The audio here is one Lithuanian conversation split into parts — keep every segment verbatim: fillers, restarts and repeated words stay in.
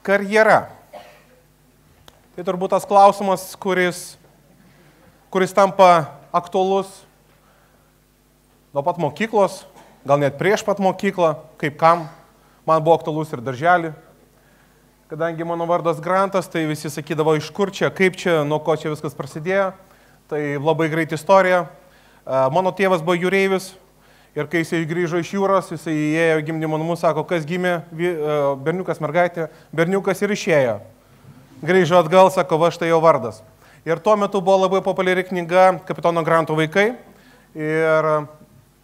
Karjera. Tai turbūt tas klausimas, kuris, kuris tampa aktualus nuo pat mokyklos, gal net prieš pat mokyklą, kaip kam. Man buvo aktualus ir darželį. Kadangi mano vardas Grantas, tai visi sakydavo, iš kur čia, kaip čia, nuo ko čia viskas prasidėjo. Tai labai greit istorija. Mano tėvas buvo jūreivis ir kai jisai grįžo iš jūros, jisai įėjo į gimdymo namus, sako, kas gimė, berniukas, mergaitė, berniukas ir išėjo. Grįžo atgal, sako, va štai jo vardas. Ir tuo metu buvo labai populiari knyga Kapitono Granto vaikai. Ir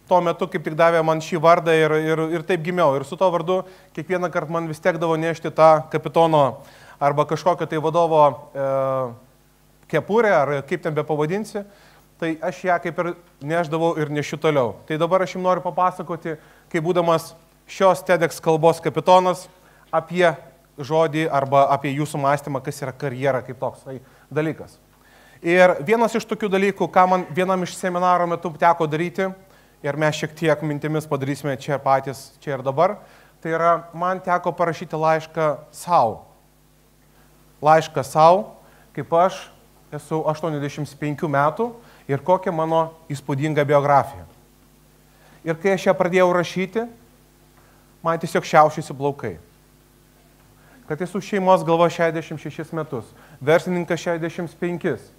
tuo metu kaip tik davė man šį vardą ir, ir, ir taip gimiau. Ir su to vardu kiekvieną kartą man vis tekdavo nešti tą kapitono arba kažkokio tai vadovo e, kepurę, ar kaip ten be pavadinsi. Tai aš ją kaip ir neždavau ir nešiu toliau. Tai dabar aš jums noriu papasakoti, kaip būdamas šios TEDx kalbos kapitonas, apie žodį arba apie jūsų mąstymą, kas yra karjera kaip toks tai dalykas. Ir vienas iš tokių dalykų, ką man vienam iš seminaro metu teko daryti, ir mes šiek tiek mintimis padarysime čia patys, čia ir dabar, tai yra, man teko parašyti laišką savo. Laišką savo, kaip aš esu aštuoniasdešimt penkių metų ir kokia mano įspūdinga biografija. Ir kai aš ją pradėjau rašyti, man tiesiog šiaušiasi plaukai. Kad esu šeimos galva šešiasdešimt šešis metus, verslininkas šešiasdešimt penkis,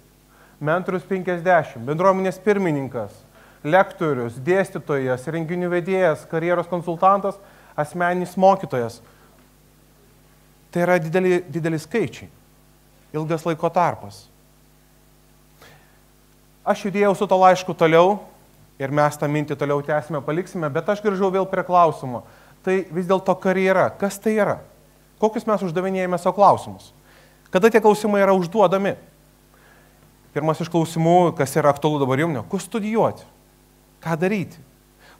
mentorius penkiasdešimt, bendruomenės pirmininkas, lektorius, dėstytojas, renginių vedėjas, karjeros konsultantas, asmeninis mokytojas. Tai yra dideli, dideli skaičiai, ilgas laiko tarpas. Aš judėjau su to laišku toliau ir mes tą mintį toliau tęsime, paliksime, bet aš grįžau vėl prie klausimo. Tai vis dėlto karjera, kas tai yra? Kokius mes uždavinėjame savo klausimus? Kada tie klausimai yra užduodami? Pirmas iš klausimų, kas yra aktualu dabar jums, kur studijuoti? Ką daryti?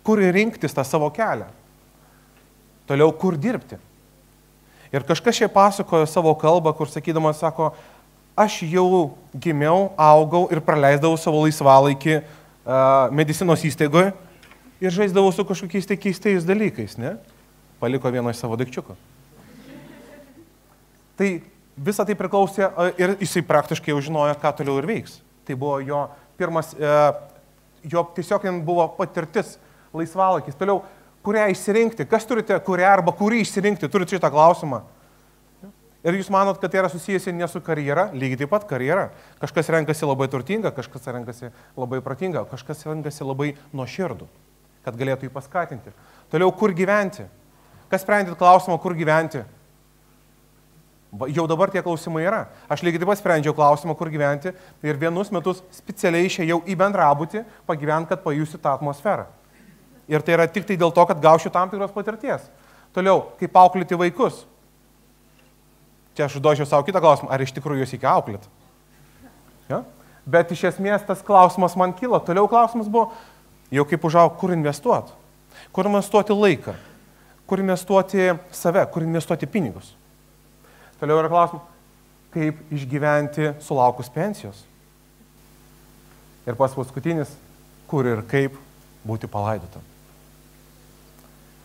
Kur rinktis tą savo kelią? Toliau, kur dirbti? Ir kažkas čia pasakojo savo kalbą, kur sakydamas, sako, aš jau gimiau, augau ir praleisdavau savo laisvalaikį uh, medicinos įstaigoje ir žaisdavau su kažkokiais tai keistais dalykais, ne? Paliko vieno iš savo daikčiuko. Tai visą tai priklausė ir jisai praktiškai jau žinojo, ką toliau ir veiks. Tai buvo jo pirmas... Uh, jo tiesiog buvo patirtis, laisvalakis. Toliau, kurią išsirinkti, kas turite, kurią arba kurį išsirinkti, turite šitą klausimą. Ir jūs manot, kad tai yra susijęs ne su karjera, lygiai taip pat karjera. Kažkas renkasi labai turtinga, kažkas renkasi labai protinga, kažkas renkasi labai nuoširdų, kad galėtų jį paskatinti. Toliau, kur gyventi? Kas sprendėt klausimą, kur gyventi? Jau dabar tie klausimai yra. Aš lygiai taip pat sprendžiau klausimą, kur gyventi ir vienus metus specialiai išėjau į bendrabutį pagyventi, kad pajusiu tą atmosferą. Ir tai yra tik tai dėl to, kad gaušiu tam tikros patirties. Toliau, kaip auklėti vaikus. Čia aš užduočiau savo kitą klausimą, ar iš tikrųjų jūs iki auklėt? Ja? Bet iš esmės tas klausimas man kilo. Toliau klausimas buvo, jau kaip užaug, kur investuoti? Kur investuoti laiką? Kur investuoti save? Kur investuoti pinigus? Toliau yra klausimas, kaip išgyventi sulaukus pensijos. Ir pas paskutinis, kur ir kaip būti palaidotam.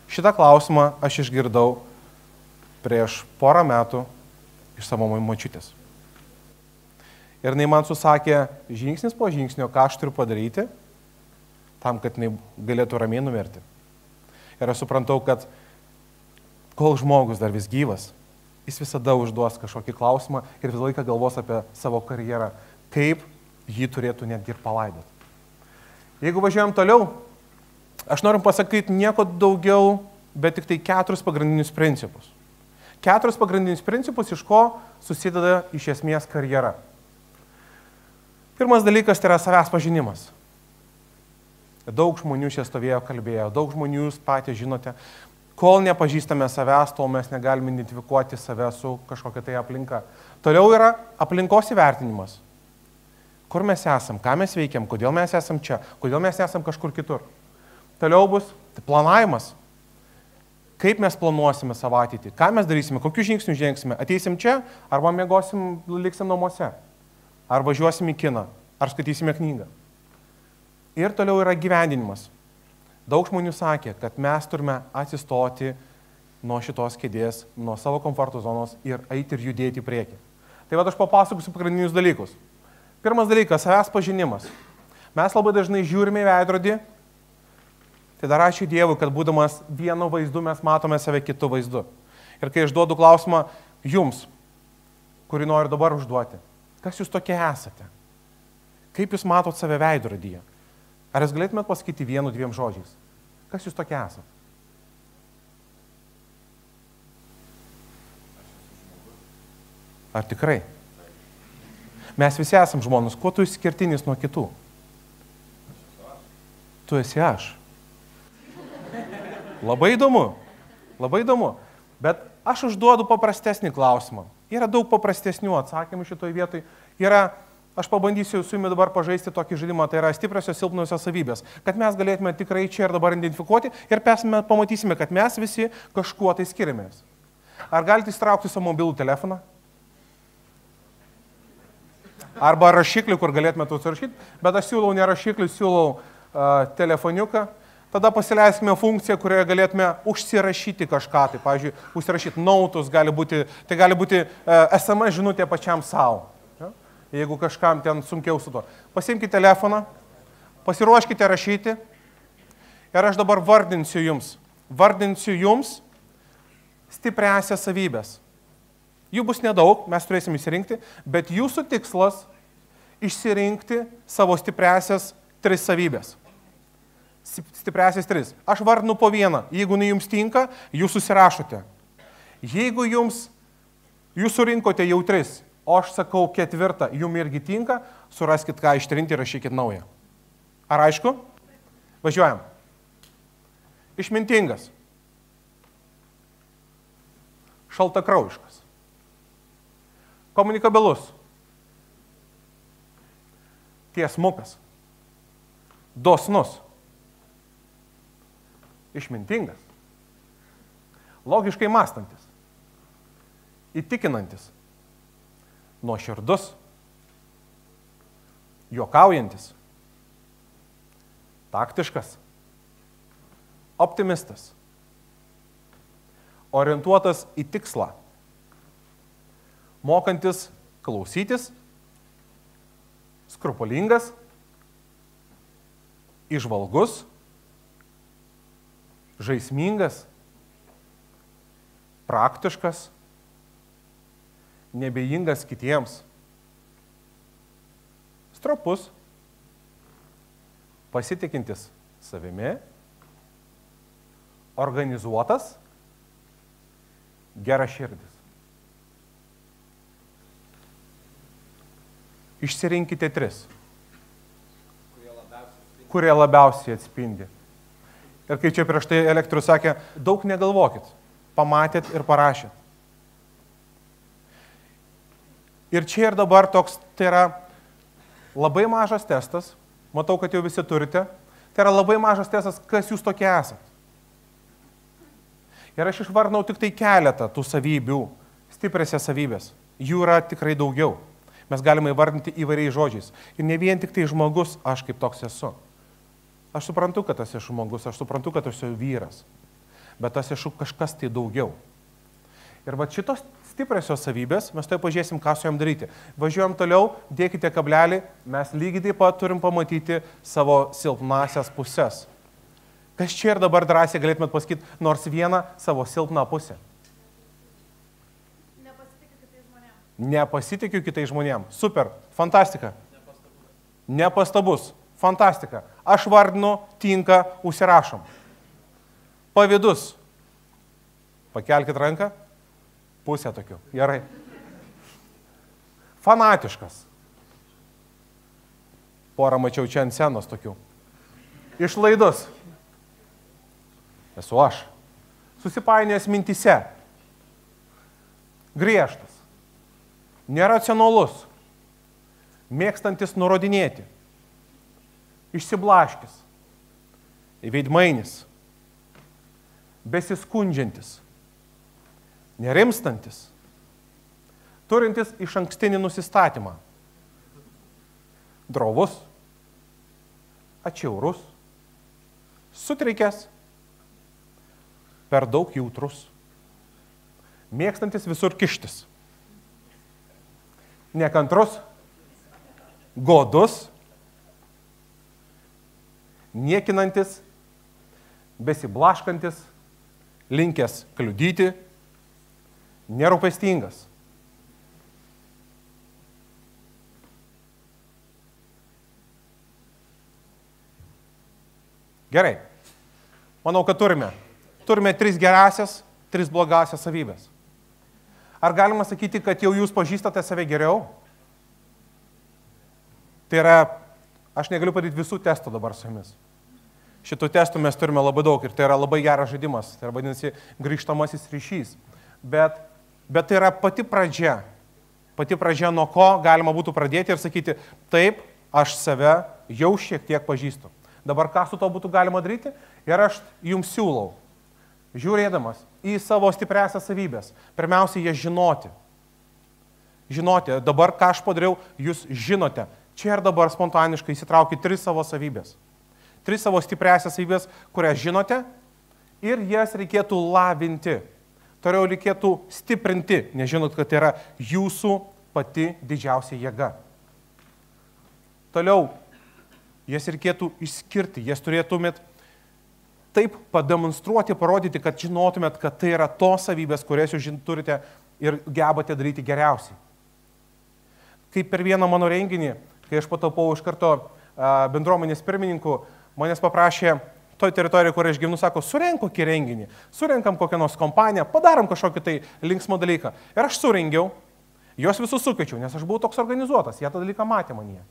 Šitą klausimą aš išgirdau prieš porą metų iš savo močiutės. Ir jinai man susakė žingsnis po žingsnio, ką aš turiu padaryti, tam, kad jinai galėtų ramiai numirti. Ir aš suprantau, kad kol žmogus dar vis gyvas, jis visada užduos kažkokį klausimą ir visą laiką galvos apie savo karjerą, kaip jį turėtų netgi ir palaidoti. Jeigu važiuojam toliau, aš noriu pasakyti nieko daugiau, bet tik tai keturis pagrindinius principus. Keturis pagrindinius principus, iš ko susideda iš esmės karjera. Pirmas dalykas tai yra savęs pažinimas. Daug žmonių čia stovėjo, kalbėjo, daug žmonių jūs patys žinote. Kol nepažįstame savęs, tol mes negalime identifikuoti save su kažkokia tai aplinka. Toliau yra aplinkos įvertinimas. Kur mes esam, ką mes veikiam, kodėl mes esam čia, kodėl mes esam kažkur kitur. Toliau bus tai planavimas. Kaip mes planuosime savo ateitį, ką mes darysime, kokius žingsnius žengsime. Ateisim čia, arba miegosim, liksim namuose. Ar važiuosim į kiną, ar skaitysime knygą. Ir toliau yra gyvendinimas. Daug žmonių sakė, kad mes turime atsistoti nuo šitos kėdės, nuo savo komforto zonos ir eiti ir judėti į priekį. Tai va aš papasakosiu pagrindinius dalykus. Pirmas dalykas - savęs pažinimas. Mes labai dažnai žiūrime į veidrodį, tai dar ačiū Dievui, kad būdamas vienu vaizdu mes matome save kitu vaizdu. Ir kai aš duodu klausimą jums, kurį noriu dabar užduoti, kas jūs tokie esate? Kaip jūs matot save veidrodyje? Ar jūs galėtumėt pasakyti vienu, dviem žodžiais? Kas jūs tokie esate? Ar tikrai? Mes visi esam žmonės. Kuo tu išskirtinis nuo kitų? Tu esi aš. Labai įdomu. Labai įdomu. Bet aš užduodu paprastesnį klausimą. Yra daug paprastesnių atsakymų šitoj vietoj. Yra, aš pabandysiu su jumis dabar pažaisti tokį žaidimą, tai yra stipriosios silpnosios savybės. Kad mes galėtume tikrai čia ir dabar identifikuoti ir mes pamatysime, kad mes visi kažkuo tai skiriamės. Ar galite įstraukti savo mobilų telefoną? Arba rašiklį, kur galėtumėte užsirašyti, bet aš siūlau ne rašiklį, siūlau uh, telefoniuką. Tada pasileiskime funkciją, kurioje galėtume užsirašyti kažką. Tai, pavyzdžiui, užsirašyti nautus, gali būti, tai gali būti uh, es em es žinutė pačiam savo. Ja? Jeigu kažkam ten sunkiau su to. Pasiimkite telefoną, pasiruoškite rašyti ir aš dabar vardinsiu jums. Vardinsiu jums stipriąsias savybės. Jų bus nedaug, mes turėsim išsirinkti, bet jūsų tikslas išsirinkti savo stipriąsias tris savybės. Stipriąsias tris. Aš vardinu po vieną. Jeigu jums tinka, jūs susirašote. Jeigu jums, jūs surinkote jau tris, o aš sakau ketvirtą, jums irgi tinka, suraskit ką ištrinti ir rašykit naują. Ar aišku? Važiuojam. Išmintingas. Šaltakraujiškas. Komunikabilus, tiesmukas, dosnus, išmintingas, logiškai mąstantis, įtikinantis, nuoširdus, juokaujantis, taktiškas, optimistas, orientuotas į tikslą, mokantis klausytis, skrupulingas, įžvalgus, žaismingas, praktiškas, nebejingas kitiems, stropus, pasitikintis savimi, organizuotas, geraširdis. Išsirinkite tris, kurie labiausiai, kurie labiausiai atspindi. Ir kai čia prieš tai Elektrius sakė, daug negalvokit, pamatėt ir parašėt. Ir čia ir dabar toks, tai yra labai mažas testas, matau, kad jau visi turite, tai yra labai mažas testas, kas jūs tokie esat. Ir aš išvardinau tik tai keletą tų savybių, stipriasias savybės. Jų yra tikrai daugiau. Mes galime įvardinti įvairiais žodžiais. Ir ne vien tik tai žmogus, aš kaip toks esu. Aš suprantu, kad aš esu žmogus, aš suprantu, kad aš esu vyras. Bet aš esu kažkas tai daugiau. Ir va šitos stipriosios savybės, mes tai pažiūrėsim, ką su jom daryti. Važiuojam toliau, dėkite kablelį, mes lygiai taip pat turim pamatyti savo silpnasias pusės. Kas čia ir dabar drąsiai galėtumėt pasakyti nors vieną savo silpną pusę? Nepasitikiu kitais žmonėms. Super, fantastika. Nepastabus. Nepastabus, fantastika. Aš vardinu, tinka, užsirašom. Pavydus. Pakelkit ranką. Pusę tokių. Gerai. Fanatiškas. Porą mačiau čia ant scenos tokių. Išlaidus. Esu aš. Susipainėjęs mintyse. Griežtas. Neracionalus, mėgstantis nurodinėti, išsiblaškis, veidmainis, besiskundžiantis, nerimstantis, turintis išankstinį nusistatymą, drovus, atšiaurus, sutrikęs, per daug jautrus, Mėgstantis visur kištis. Nekantrus, godus, niekinantis, besiblaškantis, linkęs kliudyti, nerūpestingas. Gerai. Manau, kad turime. Turime tris gerasias, tris blogasias savybės. Ar galima sakyti, kad jau jūs pažįstate save geriau? Tai yra, aš negaliu padaryti visų testų dabar su jumis. Šitų testų mes turime labai daug ir tai yra labai geras žaidimas. Tai yra vadinasi grįžtamasis ryšys. Bet, bet tai yra pati pradžia. Pati pradžia, nuo ko galima būtų pradėti ir sakyti, taip, aš save jau šiek tiek pažįstu. Dabar ką su to būtų galima daryti? Ir aš jums siūlau, žiūrėdamas į savo stipriasias savybės, pirmiausia, jas žinoti. Žinoti, dabar ką aš padariau, jūs žinote. Čia ir dabar spontaniškai įsitraukite tris savo savybės. Tris savo stipriasias savybės, kurias žinote ir jas reikėtų lavinti. Toliau reikėtų stiprinti, nes žinot, kad tai yra jūsų pati didžiausia jėga. Toliau, jas reikėtų išskirti, jas turėtumėt taip pademonstruoti, parodyti, kad žinotumėt, kad tai yra tos savybės, kurias jūs turite ir gebate daryti geriausiai. Kaip per vieną mano renginį, kai aš patapau iš karto bendruomenės pirmininku, manęs paprašė toj teritorijoje, kur aš gyvenu, sako, surenk kokį renginį, surenkam kokią nors kompaniją, padarom kažkokį tai linksmą dalyką. Ir aš surengiau, juos visus sukviečiau, nes aš buvau toks organizuotas, jie tą dalyką matė manyje.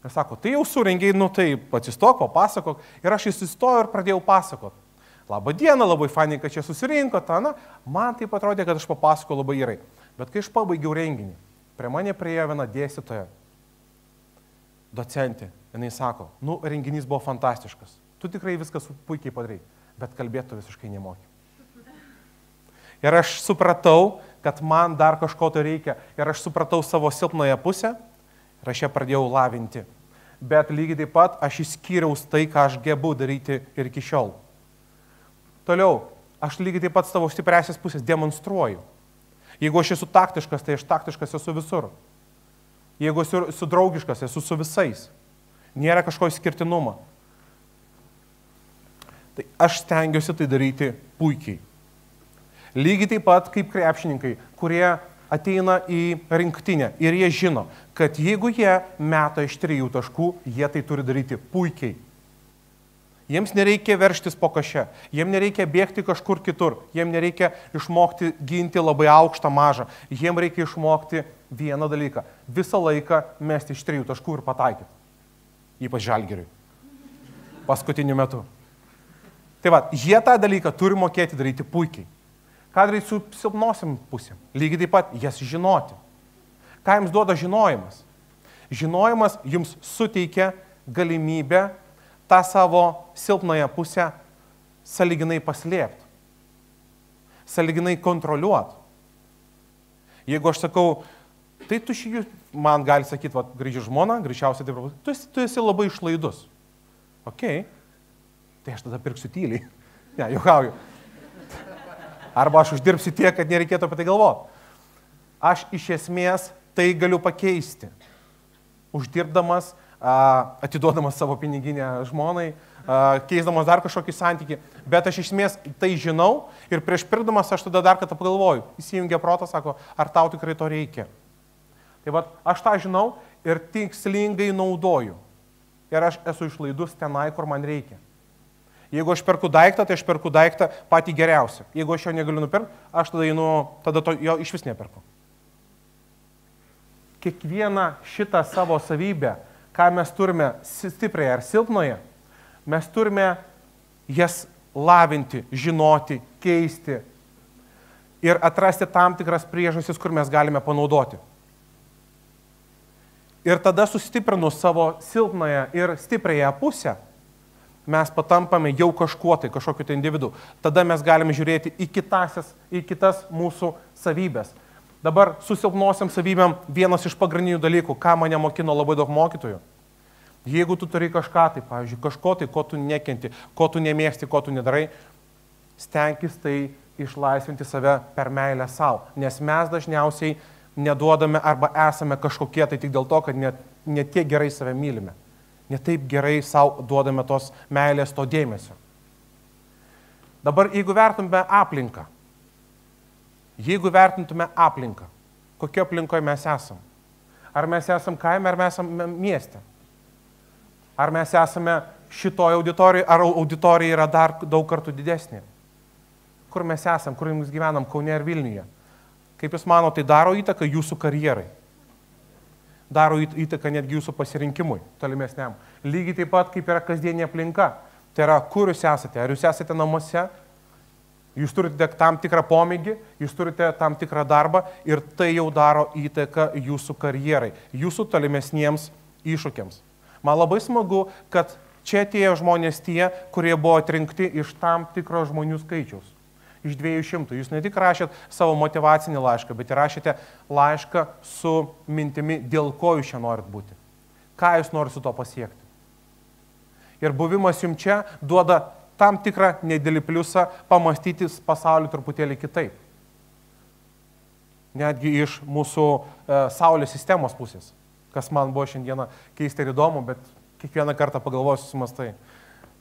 Ir sako, tai jau surengiai, nu tai atsistok, papasakok. Ir aš įsistojau ir pradėjau pasakot. Labą dieną, labai fainai, kad čia susirinko, ta, na, man taip atrodė, kad aš papasakau labai gerai. Bet kai aš pabaigiau renginį, prie mane priėjo viena dėstytoja, docentė, jinai sako, nu, renginys buvo fantastiškas, tu tikrai viskas puikiai padarai, bet kalbėtų visiškai nemoki. Ir aš supratau, kad man dar kažko to reikia, ir aš supratau savo silpnąją pusę, ir aš ją pradėjau lavinti. Bet lygiai taip pat aš išskyriau tai, ką aš gebu daryti ir iki šiol. Toliau, aš lygiai taip pat savo stipriasias pusės demonstruoju. Jeigu aš esu taktiškas, tai aš taktiškas esu visur. Jeigu esu, esu draugiškas, esu su visais. Nėra kažko išskirtinumo. Tai aš stengiuosi tai daryti puikiai. Lygiai taip pat kaip krepšininkai, kurie ateina į rinktinę ir jie žino, kad jeigu jie meta iš trijų taškų, jie tai turi daryti puikiai. Jiems nereikia verštis po kaše, jiems nereikia bėgti kažkur kitur, jiems nereikia išmokti ginti labai aukštą mažą, jiems reikia išmokti vieną dalyką - visą laiką mesti iš trijų taškų ir pataikyti. Ypač Žalgiriui. Paskutiniu metu. Tai va, jie tą dalyką turi mokėti daryti puikiai. Ką daryti su silpnosiam pusėm? Lygiai taip pat jas žinoti. Ką jums duoda žinojimas? Žinojimas jums suteikia galimybę tą savo silpnąją pusę sąlyginai paslėpti. Sąlyginai kontroliuoti. Jeigu aš sakau, tai tu šį, man gali sakyti, va, grįži žmona, greičiausiai taip, tu esi, tu esi labai išlaidus. Ok, tai aš tada pirksiu tyliai. Ne, juokauju. Arba aš uždirbsiu tiek, kad nereikėtų apie tai galvoti. Aš iš esmės tai galiu pakeisti. Uždirbdamas, atiduodamas savo piniginę žmonai, keisdamas dar kažkokį santykį. Bet aš iš esmės tai žinau ir prieš pirkdamas aš tada dar kartą pagalvoju. Įsijungia protas, sako, ar tau tikrai to reikia. Tai va, aš tą žinau ir tikslingai naudoju. Ir aš esu išlaidus tenai, kur man reikia. Jeigu aš perku daiktą, tai aš perku daiktą patį geriausią. Jeigu aš jo negaliu nupirkti, aš tada, einu, tada to, jo iš vis neperku. Kiekvieną šitą savo savybę, ką mes turime stipriai ar silpnoje, mes turime jas lavinti, žinoti, keisti ir atrasti tam tikras priežastis, kur mes galime panaudoti. Ir tada sustiprinus savo silpnoje ir stipriąją pusę, mes patampame jau kažkuo tai, kažkokiu tai individu. Tada mes galime žiūrėti į, kitasias, į kitas mūsų savybės. Dabar su silpnosiam savybėm vienas iš pagrindinių dalykų, ką mane mokino labai daug mokytojų. Jeigu tu turi kažką tai, pavyzdžiui, kažko tai, ko tu nekenti, ko tu nemėgsti, ko tu nedarai, stenkis tai išlaisvinti save per meilę savo, nes mes dažniausiai neduodame arba esame kažkokie tai tik dėl to, kad net, net tiek gerai save mylime, net taip gerai savo duodame tos meilės, to dėmesio. Dabar, jeigu vertume aplinką, jeigu vertintume aplinką, kokio aplinkoje mes esame? Ar mes esame kaime, ar mes esame mieste? Ar mes esame šitoje auditorijoje, ar auditorija yra dar daug kartų didesnė? Kur mes esame, kur mes gyvenam, Kaune ir Vilniuje? Kaip jūs manote, tai daro įtaką jūsų karjerai? Daro įtaką netgi jūsų pasirinkimui tolimesniam. Lygiai taip pat, kaip yra kasdienė aplinka. Tai yra, kur jūs esate? Ar jūs esate namuose? Jūs turite tam tikrą pomėgį, jūs turite tam tikrą darbą ir tai jau daro įtaką jūsų karjerai, jūsų tolimesniems iššūkiams. Man labai smagu, kad čia atėjo žmonės tie, kurie buvo atrinkti iš tam tikro žmonių skaičiaus. Iš dviejų šimtų. Jūs ne tik rašėt savo motyvacinį laišką, bet ir rašėte laišką su mintimi, dėl ko jūs čia norit būti. Ką jūs norite su to pasiekti. Ir buvimas jums čia duoda tam tikrą nedidelį pliusą pamastyti pasaulį truputėlį kitaip. Netgi iš mūsų e, Saulės sistemos pusės, kas man buvo šiandieną keista ir įdomu, bet kiekvieną kartą pagalvosiu sumastai,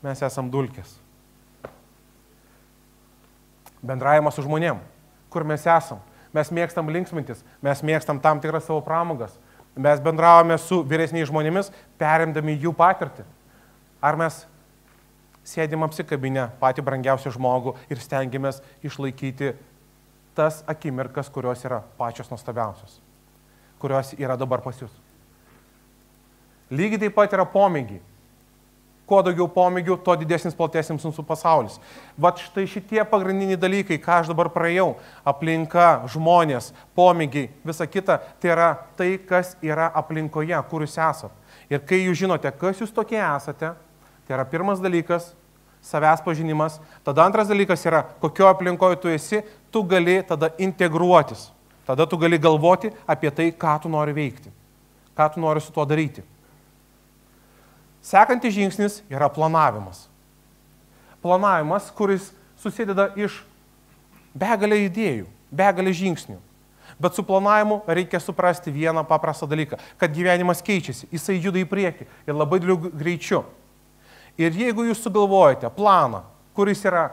mes esam dulkės. Bendravimas su žmonėm, kur mes esam. Mes mėgstam linksmintis, mes mėgstam tam tikras savo pramogas. Mes bendravome su vyresniais žmonėmis, perimdami jų patirtį. Ar mes sėdim apsikabinę patį brangiausią žmogų ir stengiamės išlaikyti tas akimirkas, kurios yra pačios nuostabiausios, kurios yra dabar pas jūs. Lygiai taip pat yra pomėgiai. Kuo daugiau pomėgių, tuo didesnis, platesnis mūsų pasaulis. Vat štai šitie pagrindiniai dalykai, ką aš dabar praėjau, aplinka, žmonės, pomėgiai, visa kita, tai yra tai, kas yra aplinkoje, kur jūs esate. Ir kai jūs žinote, kas jūs tokie esate, tai yra pirmas dalykas, savęs pažinimas. Tada antras dalykas yra, kokio aplinkoje tu esi, tu gali tada integruotis. Tada tu gali galvoti apie tai, ką tu nori veikti, ką tu nori su tuo daryti. Sekantis žingsnis yra planavimas. Planavimas, kuris susideda iš begalę idėjų, begalę žingsnių. Bet su planavimu reikia suprasti vieną paprastą dalyką, kad gyvenimas keičiasi, jisai juda į priekį ir labai dideliu greičiu. Ir jeigu jūs sugalvojate planą, kuris yra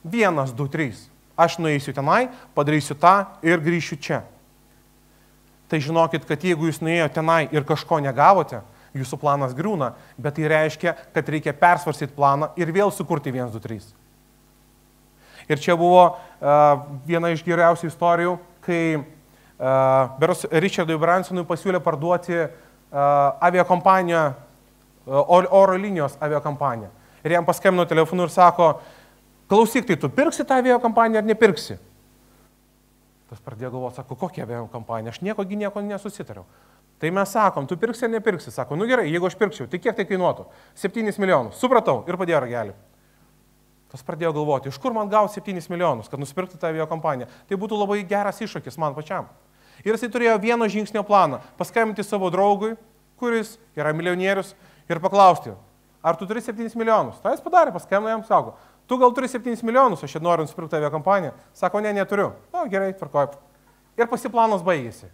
vienas, du, trys, aš nueisiu tenai, padarysiu tą ir grįšiu čia. Tai žinokit, kad jeigu jūs nuėjote tenai ir kažko negavote, jūsų planas griūna, bet tai reiškia, kad reikia persvarstyti planą ir vėl sukurti vienas, du, trys. Ir čia buvo uh, viena iš geriausių istorijų, kai uh, beros Richardui Bransonui pasiūlė parduoti uh, aviakompaniją, uh, oro linijos aviakompaniją. Ir jam paskambino telefonu ir sako, klausyk, tai tu pirksi tą aviakompaniją ar nepirksi? Tas pradėjo galvoti, sako, kokia aviakompanija, aš nieko, nieko nesusitariau. Tai mes sakom, tu pirksi ar nepirksi? Sako, nu gerai, jeigu aš pirkčiau, tai kiek tai kainuotų? septynis milijonus. Supratau ir padėjo ragelį. Tas pradėjo galvoti, iš kur man gauti septynis milijonus, kad nusipirkti tą aviakompaniją. Tai būtų labai geras iššūkis man pačiam. Ir jisai turėjo vieno žingsnio planą. Paskambinti savo draugui, kuris yra milijonierius, ir paklausti, ar tu turi septynis milijonus? Tai jis padarė, paskambino jam, sako, tu gal turi septynis milijonus, aš čia noriu nusipirkti aviakompaniją. Sako, ne, neturiu. O, gerai, tvarkoj. Ir pasiplanas baigėsi.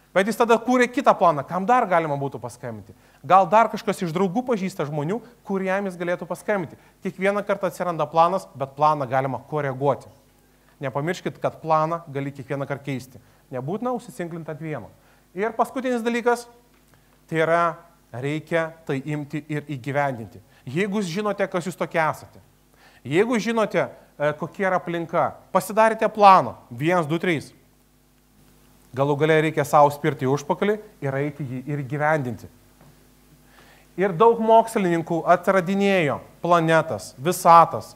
Bet jis tada kūrė kitą planą, kam dar galima būtų paskambinti. Gal dar kažkas iš draugų pažįsta žmonių, kuriam jis galėtų paskambinti. Kiekvieną kartą atsiranda planas, bet planą galima koreguoti. Nepamirškit, kad planą gali kiekvieną kartą keisti. Nebūtina užsisinklinti ant vieno. Ir paskutinis dalykas, tai yra, reikia tai imti ir įgyvendinti. Jeigu jūs žinote, kas jūs tokie esate, jeigu žinote, kokia yra aplinka, pasidarėte planą, vienas, du, trys. Galų galia reikia savo spirti į užpakalį ir eiti jį ir gyvendinti. Ir daug mokslininkų atradinėjo planetas, visatas,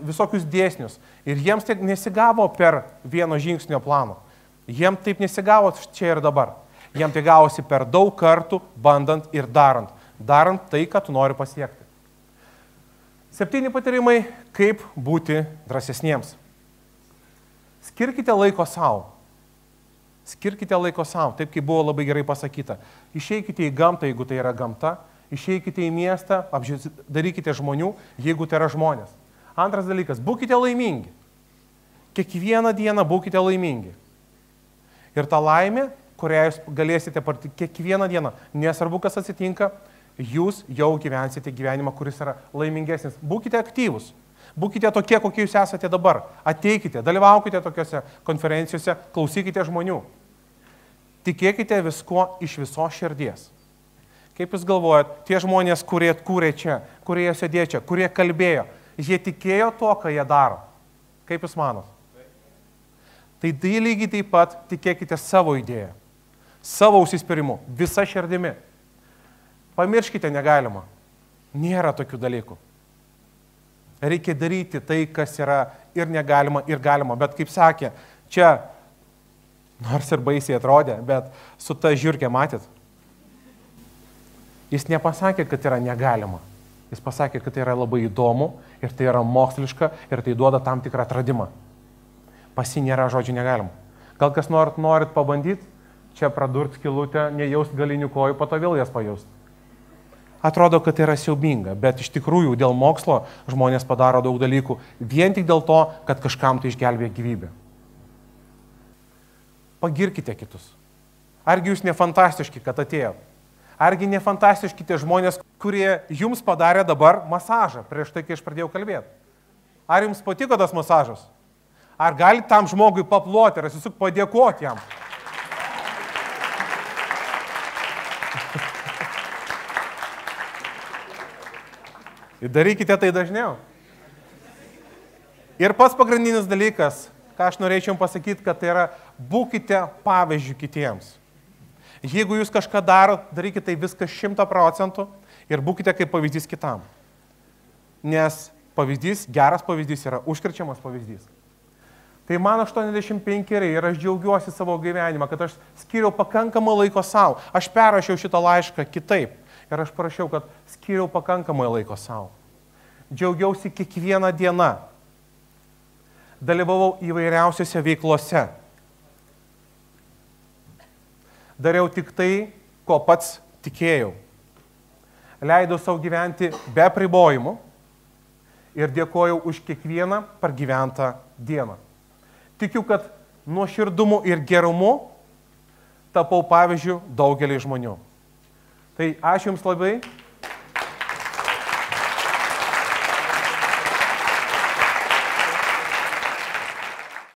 visokius dėsnius. Ir jiems tai nesigavo per vieno žingsnio planą. Jiems taip nesigavo čia ir dabar. Jiems tai gavosi per daug kartų, bandant ir darant. Darant tai, ką tu nori pasiekti. Septyni patarimai, kaip būti drąsesniems. Skirkite laiko savo. Skirkite laiko savo, taip kaip buvo labai gerai pasakyta. Išeikite į gamtą, jeigu tai yra gamta. Išeikite į miestą, darykite žmonių, jeigu tai yra žmonės. Antras dalykas, būkite laimingi. Kiekvieną dieną būkite laimingi. Ir ta laimė, kurią jūs galėsite patirti kiekvieną dieną, nesvarbu, kas atsitinka, jūs jau gyvensite gyvenimą, kuris yra laimingesnis. Būkite aktyvūs. Būkite tokie, kokie jūs esate dabar. Ateikite, dalyvaukite tokiuose konferencijose, klausykite žmonių. Tikėkite viskuo iš visos širdies. Kaip jūs galvojat, tie žmonės, kurie kūrė čia, kurie sėdėjo čia, kurie kalbėjo, jie tikėjo to, ką jie daro. Kaip jūs manot? Tai tai lygiai taip pat tikėkite savo idėją, savo užsispyrimu, visa širdimi. Pamirškite negalima. Nėra tokių dalykų. Reikia daryti tai, kas yra ir negalima, ir galima. Bet kaip sakė, čia, nors ir baisiai atrodė, bet su ta žiurkė matyt. Jis nepasakė, kad yra negalima. Jis pasakė, kad tai yra labai įdomu ir tai yra moksliška ir tai duoda tam tikrą atradimą. Pas jį nėra žodžių negalima. Gal kas norit, norit pabandyti, čia pradurt skilutę, nejaust galinių kojų, po to vėl jas pajaust. Atrodo, kad tai yra siaubinga, bet iš tikrųjų dėl mokslo žmonės padaro daug dalykų vien tik dėl to, kad kažkam tai išgelbėja gyvybę. Pagirkite kitus. Argi jūs ne fantastiški, kad atėjot? Argi ne fantastiški tie žmonės, kurie jums padarė dabar masažą prieš tai, kai aš pradėjau kalbėti? Ar jums patiko tas masažas? Ar galite tam žmogui paploti ir tiesiog padėkoti jam? Ir darykite tai dažniau. Ir pats pagrindinis dalykas, ką aš norėčiau jums pasakyti, kad tai yra būkite pavyzdžių kitiems. Jeigu jūs kažką darot, darykite tai viską šimtą procentų ir būkite kaip pavyzdys kitam. Nes pavyzdys, geras pavyzdys yra užkrečiamas pavyzdys. Tai man aštuoniasdešimt penkeri ir aš džiaugiuosi savo gyvenimą, kad aš skiriau pakankamai laiko savo. Aš perrašiau šitą laišką kitaip. Ir aš parašiau, kad skiriau pakankamai laiko savo. Džiaugiausi kiekvieną dieną. Dalyvavau įvairiausiose veiklose. Dariau tik tai, ko pats tikėjau. Leidau savo gyventi be apribojimų ir dėkojau už kiekvieną pragyventą dieną. Tikiu, kad nuoširdumu ir gerumu tapau pavyzdžiu daugelį žmonių. Tai ačiū Jums labai.